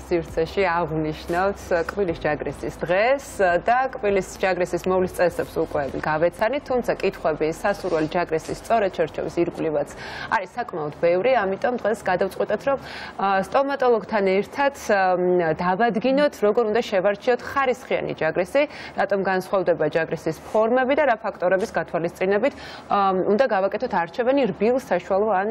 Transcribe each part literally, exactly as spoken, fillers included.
სივრცეში აღვნიშნავთ კბილის ჯაგრისის დღეს და კბილის ჯაგრისის მოვლის წესებს უკვე გავეცანით, თუმცა კითხვები სასურველი ჯაგრისის სწორად შერჩევის ირგვლივაც არის საკმაოდ ბევრი, ამიტომ დღეს გადავწყვეტეთ, რომ სტომატოლოგთან ერთად დავადგინოთ, როგორ უნდა შევარჩიოთ ხარისხიანი ჯაგრისი, რატომ განსხვავდება ჯაგრისის ფორმები და რა ფაქტორების გათვალისწინებით უნდა გავაკეთოთ არჩევანი რბილ, საშუალო ან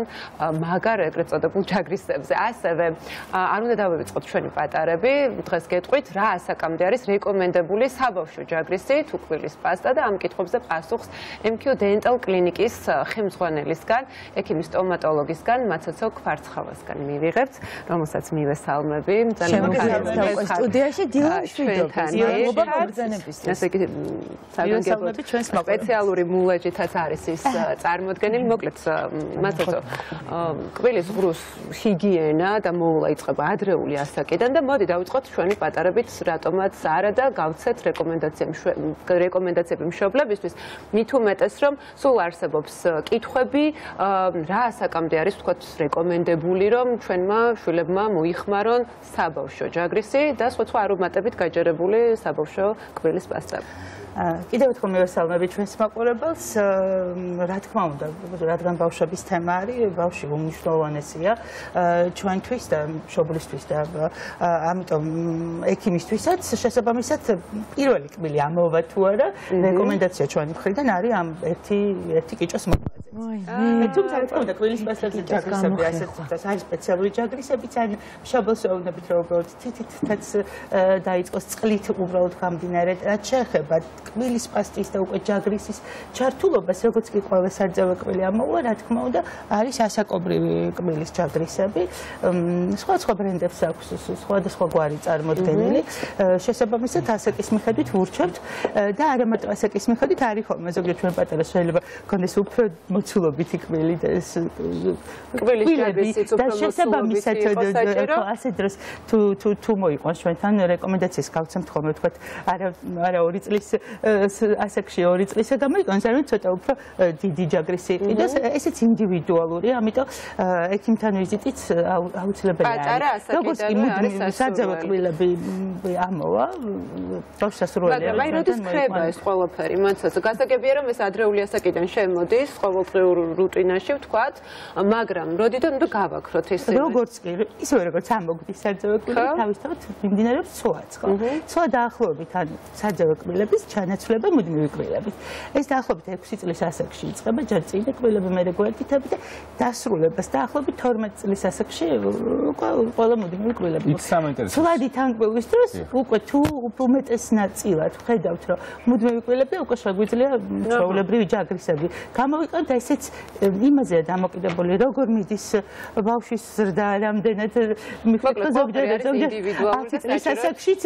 მაგარ ეგრეთ წოდებულ ჯაგრისებზე. ასევე არ უნდა დავივიწყოთ ჩვენი პატარები, დღეს გეტყვით, რა ასაკამდე არის რეკომენდებული საბავშვო ჯაგრისი, თუ კბილის პასტა და ამ კითხვებზე პასუხს ემ კიუ Dental კლინიკის ხელმძღვანელისგან, ექიმის სტომატოლოგისგან, მაცოცო კვარცხავასგან მივიღებთ, რომელსაც მივესალმები. ძალიან მოგესალმებით სტუდიაში დილა მშვიდობა. მადლობა მოგზანებისთვის. ესე იგი, საგანგებოდ სპეციალური მულაჯითაც არის ის წარმოდგენილი, მოკლედ მაცოცო კბილის ღრუს ჰიგიენა და მოვლა იწყება ადრეული ასაკიდან და მოდი დავიწყოთ ჩვენი პატარებით, რატომაც არა და გავცეთ რეკომენდაციები მშობლებისთვის, მით უმეტეს, რომ სულ არსებობს კითხვები, რა ასაკამდე არის ვთქვათ რეკომენდებული, რომ ჩვენმა შვილებმა მოიხმარონ საბავშვო ჯაგრისი და სხვა სხვა არომატებით გაჯერებული საბავშვო კბილის პასტები. კიდევ ერთხელ მივესალმები ჩვენს მაყურებელს, რა თქმა უნდა, რადგან ბავშვების თემა არის, ბავშვი უმნიშვნელოვანესია ჩვენთვის და მშობლისთვის და ამიტომ ექიმისთვისაც შესაბამისად პირველი კბილი ამოვა თუ არა, რეკომენდაცია ჩვენი მხრიდან არის ამ ერთი ერთი კიჭოს მოყვაზე. თუმცა რა თქმა უნდა, კბილის პასტაზე ჯაგრისები ასეთ არის სპეციალური ჯაგრისებიც ან მშობელს ეუბნებით, რომ უბრალოდ თითითაც დაიწყოს წყლით უბრალოდ გამდინარე, რაც შეეხება კბილის პასტის და უკვე ჯაგრისის ჩართულობას, როგორც კი ყველა სარძევე კბილი ამოვა, რა თქმა უნდა, არის ასაკობრივი კბილის ჯაგრისები. სხვადასხვა ბრენდებს აქვს სხვადასხვა გვარი წარმოდგენილი. შესაბამისად, ასაკის მიხედვით ვურჩევთ და არა მარტო ასაკის მიხედვით, არის ხოლმე ზოგიერთ ჩვენ პატარას შეიძლება გქონდეს უფრო მოცულობითი კბილი და ეს კბილის ჯაგრისიც უფრო შესაბამისად ასე დროს თუ თუ თუ მოიყვანს ჩვენთან რეკომენდაციას გავცემთ ხოლმე ვთქვათ, არა არა ორი წლის ასაკში ორი წლისა გამოიყენოს, ანუ ცოტა უფრო დიდი ჯაგრისი იყიდოს, ესეც ინდივიდუალურია, ამიტომ ექიმთან ვიზიტიც აუცილებელია. პატარა ასაკიდან არის სარძევე კბილები ამოვა, ბავშვს სასურველია. მაგრამ აი როდის ხდება ეს ყველაფერი, მაცოცო, გასაგებია რომ ეს ადრეული ასაკიდან შემოდის ყოველდღიურ რუტინაში, ვთქვათ, მაგრამ როდიდან უნდა გავაქროთ ეს? როგორც კი, ისევე როგორც ამოგვდის სარძევე კბილები, თავისთავად მიმდინარეობს ცვაც, ხო? ცვა დაახლოებით ან სარძევე კბილების ჩანაცვლება მუდმივი კბილებით. ეს დაახლოებით ექვსი წლის ასაკში იწყება, ჯერ წინა კბილები, მერე გვერდითები და დასრულებას დაახლოებით თორმეტ წლის ასაკში ყველა მუდმივი კბილები. ცვლადი თან კბილის დროს უკვე თუ უმეტეს ნაწილად ხედავთ, რომ მუდმივი კბილები უკვე შეგვიძლია ჩვეულებრივი ჯაგრისები გამოვიყენოთ, ესეც იმაზეა დამოკიდებული, როგორ მიდის ბავშვის ზრდა, რამდენად მიხვდა ზოგჯერ ათი წლის ასაკშიც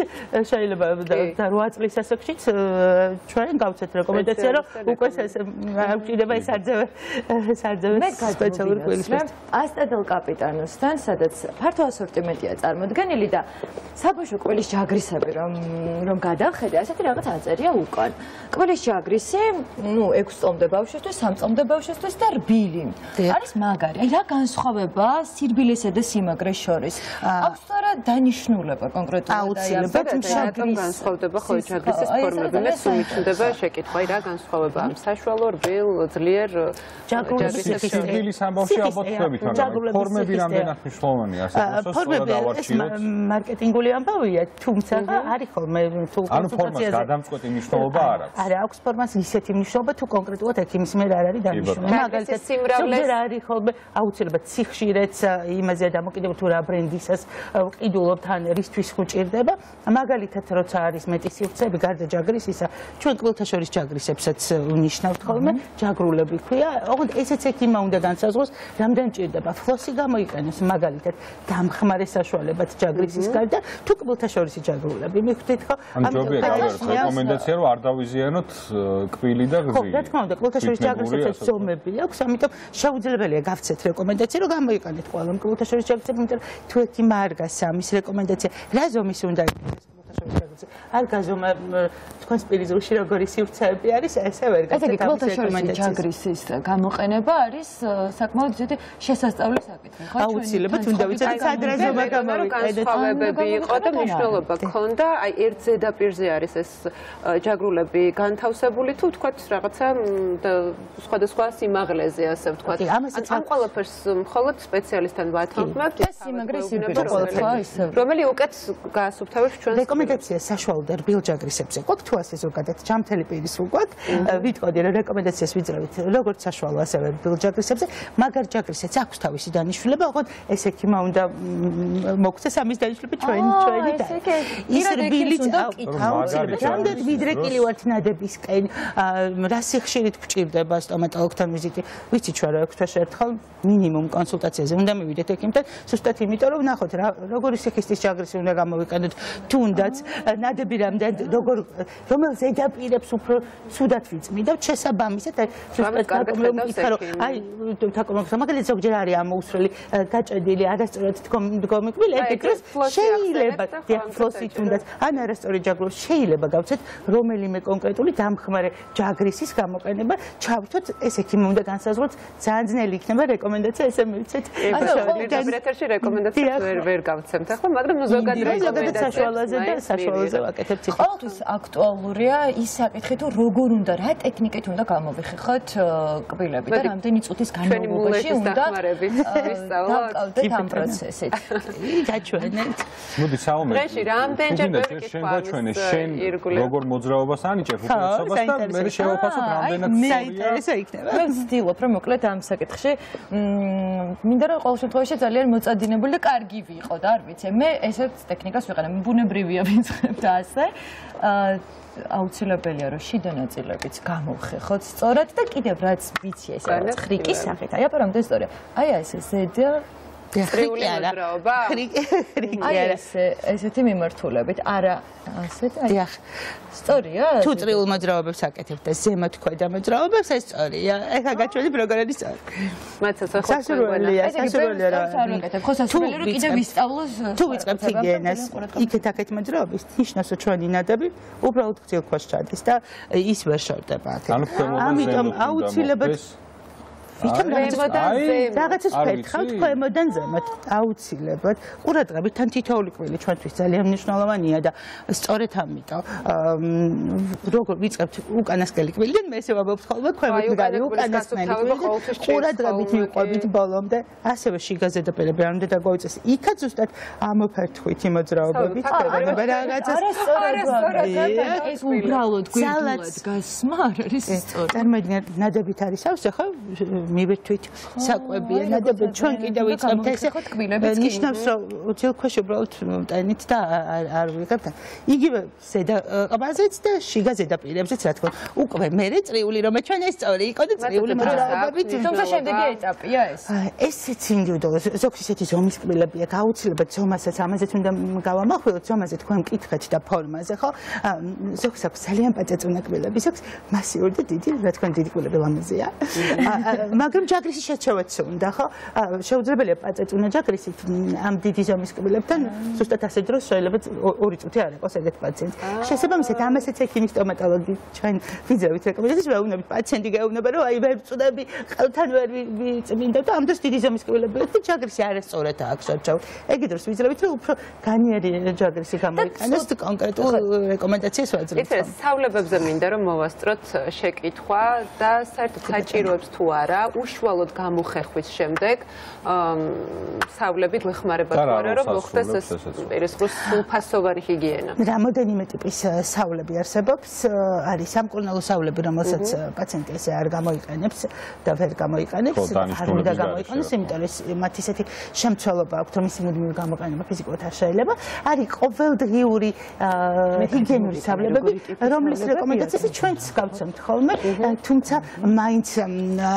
შეიძლება და რვა წლის ასაკშიც ჩვენ გავცეთ რეკომენდაცია, რომ უკვე აღჭირდება ეს სარძევე სარძევე სპეციალური კბილის პასტა. პასტა დელ კაპიტანოსთან, სადაც ფართო ასორტიმენტია წარმოდგენილი და საბავშვო კბილის ჯაგრისები რომ რომ გადავხედე, ასეთი რაღაც აწერია უკან. კბილის ჯაგრისი, ნუ ექვს წლამდე ბავშვისთვის, სამ წლამდე ბავშვისთვის და რბილი. არის მაგარი. აი რა განსხვავება სირბილესა და სიმაგრეს შორის? აქვს თუ არა დანიშნულება კონკრეტულად? აუცილებლად რატომ განსხვავდება ხო ჯაგრისის ფორმები? მე სულ შეკითხვა, აი რა განსხვავება ამ საშუალო, რბილ, ძლიერ ჯაგრისის სირბილის ამბავში ალბათ ხვდებით, მაგრამ ფორმები რამდენად მნიშვნელოვანია, ასე რომ სწორად დავარჩიოთ. მარკეტინგული ამბავია, თუმცა არის ხოლმე თუ ანუ ფორმას გადამწყვეტი მნიშვნელობა არ აქვს. არა, აქვს ფორმას ისეთი მნიშვნელობა, თუ კონკრეტულად ექიმის მიერ არ არის დანიშნული. მაგალითად, სიმრავლეს არის ხოლმე აუცილებლად სიხშირეც იმაზეა დამოკიდებული, თუ რა ბრენდისას ყიდულობთ ან რისთვის უჭირდება. მაგალითად, როცა არის მეტი სივრცეები გარდა ჯაგრისისა, ჩვენ კბილთა შორის ჯაგრისებსაც ვნიშნავთ ხოლმე, ჯაგრულები ქვია. ოღონდ ესეც ექიმმა უნდა განსაზღვროს, რამდენი ჭირდება. ფლოსი გამოიყენოს მაგალითად დამხმარე საშუალებად ჯაგრისის გარდა, თუ კბილთა შორისი ჯაგრულები. მიხვდით ხო? ამიტომ რეკომენდაცია რომ არ დავიზიანოთ კბილი და გზი. ხო, რა თქმა უნდა, კბილთა შორის ჯაგრისებსაც ზომები აქვს, ამიტომ შეუძლებელია გავცეთ რეკომენდაცია, რომ გამოიყენეთ ყველა კბილთა შორის ჯაგრისები, იმიტომ თუ ექიმმა არ გასცა ამის რეკომენდაცია, რა ზომის უნდა იყოს კბილთა შორის ჯაგრისები? საშუალებებზე. არ გაზომა თქვენს პირიზულში როგორი სივრცეები არის, ესე ვერ გაცეთ ამის რეკომენდაციას. ჯაგრისის გამოყენება არის საკმაოდ ისეთი შესასწავლი საკითხი, ხო? აუცილებლად უნდა ვიცოდეთ სადრეზომა გამოვიყენეთ. განსხვავებები იყო და მნიშვნელობა ქონდა, აი ერთ ზედაპირზე არის ეს ჯაგრულები განთავსებული თუ თქვათ რაღაცა სხვადასხვა სიმაღლეზე ასე ვთქვათ. ამ ყველაფერს მხოლოდ სპეციალისტთან ვათანხმებთ. ეს სიმაგრე სიბრტყე რომელი უკეთ გაასუფთავებს ჩვენს რეკომენდაცია საშუალოდ რბილჯაგრისებზე ყოფ თუ ასე ზოგადად ჯამთელი პირის უყვათ ვიტყოდი რომ რეკომენდაციას ვიძრავით როგორც საშუალო ასევე რბილჯაგრისებზე მაგარ ჯაგრისაც აქვს თავისი დანიშნულება ოღონდ ესექიმა უნდა მოგცეს ამის დანიშნულება ჩვენ ჩვენი და ის რბილიც აუცილებლად რამდენი ვიდრეკილი ვართ ნადებისკენ რა სიხშირით გვჭირდება სტომატოლოგთან ვიზიტი ვიცი ჩვენ რა ექვს თვეში ერთხელ მინიმუმ კონსულტაციაზე უნდა მივიდეთ ექიმთან ზუსტად იმიტომ რომ ნახოთ რა როგორი სიხისტის ჯაგრისი უნდა გამოვიყენოთ თუნდაც ნადები რამდენ როგორ რომელ ზედაპირებს უფრო ცუდად ვიწმიდავთ შესაბამისად ზუსტად იკარო აი თაკომებს მაგალითად ზოგჯერ არის ამოუსრელი გაჭედილი არასწორად დგომი კბილი ეგ დროს შეიძლება ფლოსი თუნდაც ან არასწორი ჯაგრო შეიძლება გავცეთ რომელიმე კონკრეტული დამხმარე ჯაგრისის გამოყენება ჩავრთოთ ეს ექიმი უნდა განსაზღვროთ ძალიან ძნელი იქნება რეკომენდაცია ესე მივიცეთ ეთერში რეკომენდაციას ვერ ვერ გავცემთ ახლა მაგრამ ზოგადად რეკომენდაციას საშუალოზე და საშუალოზე ვაკეთებთ ციფრით ყოველთვის აქტუალურია ის საკითხი თუ როგორ უნდა რა ტექნიკით უნდა გამოვიხეხოთ კბილები და რამდენი წუთის განმავლობაში უნდა დავკავდეთ ამ პროცესით გაჩვენეთ მოდი საომე დღეში რამდენჯერ შენ შენ როგორ მოძრაობას ანიჭებ უპირატესობას და მე შევაფასებ რამდენად საინტერესო იქნება მე ვცდილობ რომ მოკლედ ამ საკითხში მინდა რომ ყოველ შემთხვევაში ძალიან მოწადინებული და კარგი ვიყო და არ ვიცი მე ესეთ ტექნიკას ვიყენებ ბუნებრივია ვიწყებ და ასე აუცილებელია რომ შიდა ნაწილებიც გამოვხეხოთ სწორად და კიდევ რაც ვიცი ეს არის ხრიკის სახით აი აბა რამდენი სწორია აი ეს ზედა წრიული მოძრაობა ხრიკი არა ესეთი მიმართულებით არა ასეთ აი სწორია თუ წრიულ მოძრაობებს აკეთებთ და ზემოთ ქვედა მოძრაობებს ეს სწორია ეხლა გაჩვენებ როგორ არის სწორი მაცაც ახლა სასურველია სასურველია რა ხო სასურველი რომ კიდე ვისწავლოს თუ ვიწყებთ ჰიგიენას იქეთ აქეთ მოძრაობის ნიშნავს რომ ჩვენი ნადები უბრალოდ გრძელ ქვეშ ჩადის და ის ვერ შორდება აქეთ ამიტომ აუცილებლად ვითომ რაღაცას ფერხავთ ქვემოდან ზემოთ აუცილებლად ყურადღებით თან თითოეული კვილი ჩვენთვის ძალიან მნიშვნელოვანია და სწორედ ამიტომ როგორ ვიწყებთ უკანასკნელი კბილიდან მე ესე ვამბობ ხოლმე ქვემოდან უკანასკნელი კბილიდან ყურადღებით მივყვებით ბოლომდე ასევე შიგა ზედაპირები არ უნდა დაგვაუწეს იქაც ზუსტად ამოფერთხვითი მოძრაობებით ხდება რაღაცას ეს უბრალოდ გვირგვინად გასმა არ არის სწორი წარმოიდგინეთ ნადებით არის ავსე ხო მივირთვით საკვებია ნადები ჩვენ კიდევ ვიწყებთ ესე ნიშნავს რომ ძილქვეშ უბრალოდ მტენით და არ ვიღებთ იგივე ზედა ყბაზეც და შიგა ზედაპირებზეც რა თქმა უკვე მერე წრიული რომ ჩვენ ეს სწორი იყო და წრიული მოძრაობებით თუმცა შემდეგი ეტაპია ეს ესეც ინდივიდუალური ზოგს ისეთი ზომის კბილებია გაუცილებლად ზომასაც ამაზეც უნდა გავამახვილოთ ზომაზე თქვენ მკითხეთ და ფორმაზე ხო ზოგს აქვს ძალიან პაწაწუნა კბილები ზოგს მასიური და დიდი რა თქმა დიდი კბილები ლამაზია მაგრამ ჯაგრისი შეჩევაც უნდა ხო შეუძლებელია პაწაწუნა ჯაგრისით ამ დიდი ზომის კბილებთან ზუსტად ასე დროს შეიძლება ორი წუთი არ იყოს ეგეთ პაციენტს შესაბამისად ამასაც ექიმი სტომატოლოგი ჩვენ ვიძრავით რეკომენდაციას ვეუბნებით პაციენტი გეუბნება რომ აი ვერ წუდები ყელთან ვერ ვიწმინდა და ამ დროს დიდი ზომის კბილები და ჯაგრისი არასწორად აქვს შევჩავთ ეგ დროს ვიძრავით რომ უფრო განიერი ჯაგრისი გამოიყენოს კონკრეტულ რეკომენდაციას ვაძლევთ იცი სწავლებებზე მინდა რომ მოვასწროთ შეკითხვა და საერთოდ საჭიროებს თუ არა უშუალოდ გამოხეხვის შემდეგ სავლები გვეხმარება თუ არა რომ მოხდეს ეს პირისყრის სრულფასოვანი ჰიგიენა. რამოდენიმე ტიპის სავლები არსებობს, არის სამკურნალო სავლები, რომელსაც პაციენტი ესე არ გამოიყენებს და ვერ გამოიყენებს, არ უნდა გამოიყენოს, იმიტომ რომ მათ ისეთი შემცველობა აქვს, რომ ისინი მუდმივი გამოყენება ფიზიკურად არ შეიძლება. არის ყოველდღიური ჰიგიენური სავლებები, რომლის რეკომენდაციას ჩვენც გავცემთ ხოლმე, თუმცა მაინც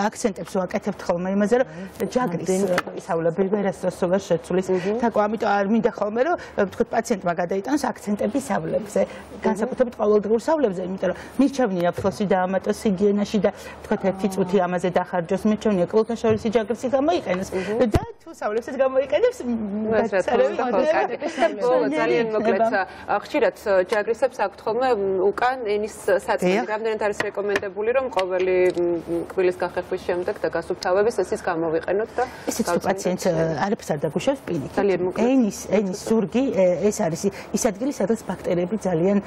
აქცენტი აკეთებს, ვაკეთებთ ხოლმე იმაზე, რომ ჯაგრის ისავლები ვერას დროს ვერ შეცვლის. თაკო, ამიტომ არ მინდა ხოლმე, რომ ვთქვათ, პაციენტმა გადაიტანოს აქცენტები სავლებზე, განსაკუთრებით ყოველდღიურ სავლებზე, იმიტომ რომ მირჩევნია ფლოსი დაამატოს ჰიგიენაში და ვთქვათ, ერთი წუთი ამაზე დახარჯოს, მირჩევნია კულტაშორისი ჯაგრისი გამოიყენოს და თუ სავლებსაც გამოიყენებს, ძალიან მოკლედ ხშირად ჯაგრისებს აქვთ ხოლმე უკან ენის საწმენდი. რამდენად არის რეკომენდებული, რომ ყოველი კბილის გახერხვის შემდეგ და გასუფთავების ეს ის გამოვიყენოთ და ესეც თუ პაციენტს არაფერს არ დაგუშავს პირიქით. ძალიან მოკლედ. ენის ენის ზურგი ეს არის ის ადგილი, სადაც ბაქტერიები ძალიან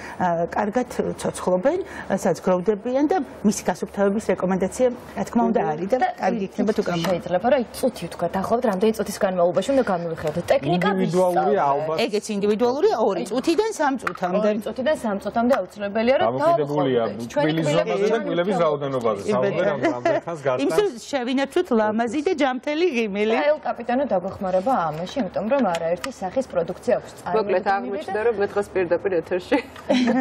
კარგად ცოცხლობენ, სადაც გროვდებიან და მისი გასუფთავების რეკომენდაცია, რა თქმა უნდა, არის და კარგი იქნება თუ გამო. შეიძლება რა წუთი ვთქვა, დაახლოებით რამდენი წუთის განმავლობაში უნდა გამოვიხილოთ. ტექნიკა ინდივიდუალურია ალბათ. ეგეც ინდივიდუალურია ორი წუთიდან სამ წუთამდე. ორი წუთიდან სამ წუთამდე აუცილებელია რომ დამოკიდებულია კბილის ზომაზე და კბილების რაოდენობაზე. საუბარი რამდენ ხანს გასტანს. იმის შევინარჩუნოთ ლამაზი და ჯამთელი ღიმილი. ელ კაპიტანო დაგვეხმარება ამაში, იმიტომ რომ არაერთი სახის პროდუქცია აქვს წარმოებული. მოკლედ აღმოჩნდა რომ მე დღეს პირდაპირ ეთერში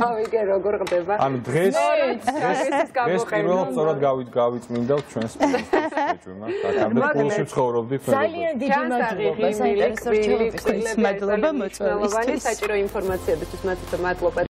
გავიგე როგორ ხდება. ანუ დღეს დღეს პირველად სწორად გავიწმინდავთ ჩვენს სპეციალისტებს. აქამდე პულსში ცხოვრობდით. ძალიან დიდი მადლობა საინტერესო რჩევების. მადლობა მოწვევისთვის. საჭირო ინფორმაციებისთვის მადლობა.